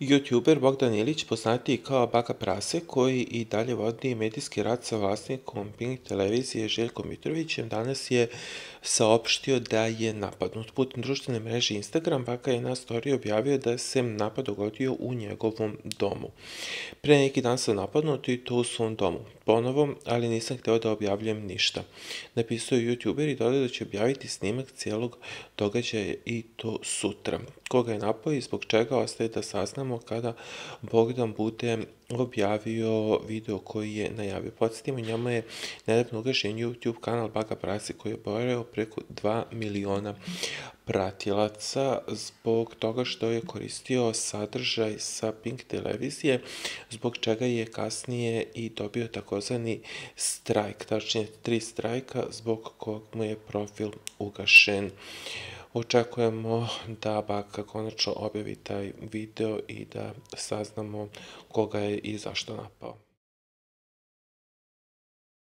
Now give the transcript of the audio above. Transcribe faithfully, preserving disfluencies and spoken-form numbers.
Youtuber Bogdan Ilić, poznatiji kao Baka Prase, koji i dalje vodi medijski rat sa vlasnikom Pink televizije Željkom Mitrovićem, danas je saopštio da je napadnut. Putem društvene mreže Instagram, Baka je na storiji objavio da se napad dogodio u njegovom domu. Pre neki dan sam napadnut i to u svom domu. Ponovo, ali nisam hteo da objavljujem ništa. Napisao je YouTuber i dodao da će objaviti snimak cijelog događaja i to sutra. Koga je napao i zbog čega ostaje da saznamo kada Bogdan bude objavio video koji je najavio. Podsjetimo, njama je nedavno ugašen YouTube kanal Baka Prase koji je brojao preko dva miliona pratilaca zbog toga što je koristio sadržaj sa Pink televizije, zbog čega je kasnije i dobio takozvani strajk, tačnije tri strajka zbog kog mu je profil ugašen. Očekujemo da Baka konačno objavi taj video i da saznamo koga je i zašto napao.